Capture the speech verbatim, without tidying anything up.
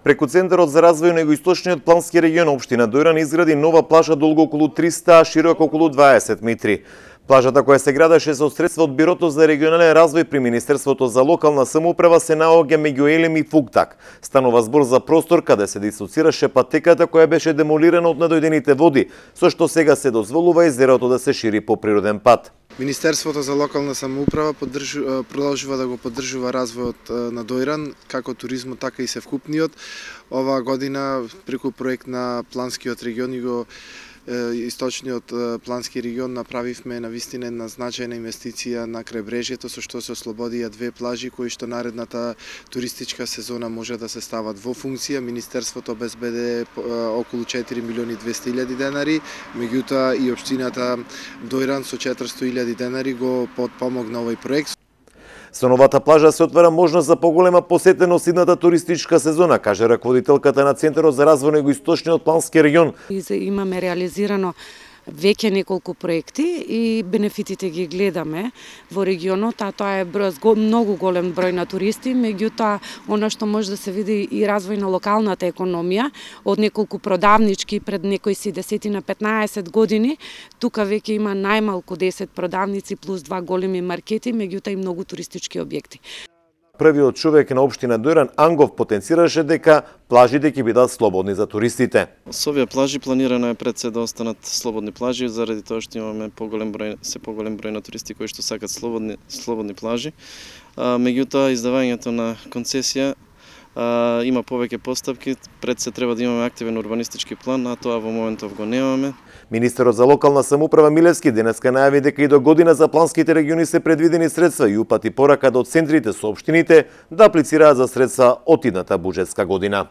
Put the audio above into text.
Преку Центарот за развој на Југоисточниот плански регион општина Дојран изгради нова плажа долго околу триста, а широка околу дваесет метри. Плажата која се градеше со средства од Бирото за регионален развој при Министерството за локална самоуправа се наоѓа меѓу Елем и Фуктак. Станува збор за простор каде се дислоцираше патеката која беше демолирана од надојдените води, со што сега се дозволува езерото да се шири по природен пат. Министерството за локална самоуправа поддржува, продолжува да го поддржува развојот на Дојран, како туризмот, така и севкупниот. Оваа година преку проект на планскиот регион и го Источниот плански регион направивме навистина една значајна инвестиција на крајбрежјето, со што се ослободија две плажи кои што наредната туристичка сезона може да се стават во функција. Министерството обезбеде околу четири милиони и двесте илјади денари, меѓутоа и општината Дојран со четиристо илјади денари го подпомогна овој проект. Со новата плажа се отвара можност за поголема посетеност идната туристичка сезона, каже раководителката на Центарот за развој на Југоисточниот плански регион. Имаме реализирано веќе неколку проекти и бенефитите ги гледаме во регионот, а тоа е број, многу голем број на туристи, меѓутоа она што може да се види и развој на локалната економија од неколку продавнички пред некои си десетина петнаесет години, тука веќе има најмалку десет продавници плюс два големи маркети, меѓутоа и многу туристички објекти. Првиот човек на општина Дојран, Ангов, потенцираше дека плажите ќе бидат слободни за туристите. Со овие плажи планирано е пред се да останат слободни плажи, заради тоа што имаме поголем број, се поголем број на туристи кои што сакат слободни слободни плажи. А, меѓутоа издавањето на концесија а, има повеќе постапки, пред се треба да имаме активен урбанистички план, а тоа во моментов го немаме. Министерот за локална самоуправа Милевски денеска најави дека и до година за планските региони се предвидени средства и упати порака до центрите со општините да аплицираат за средства од идната буџетска година.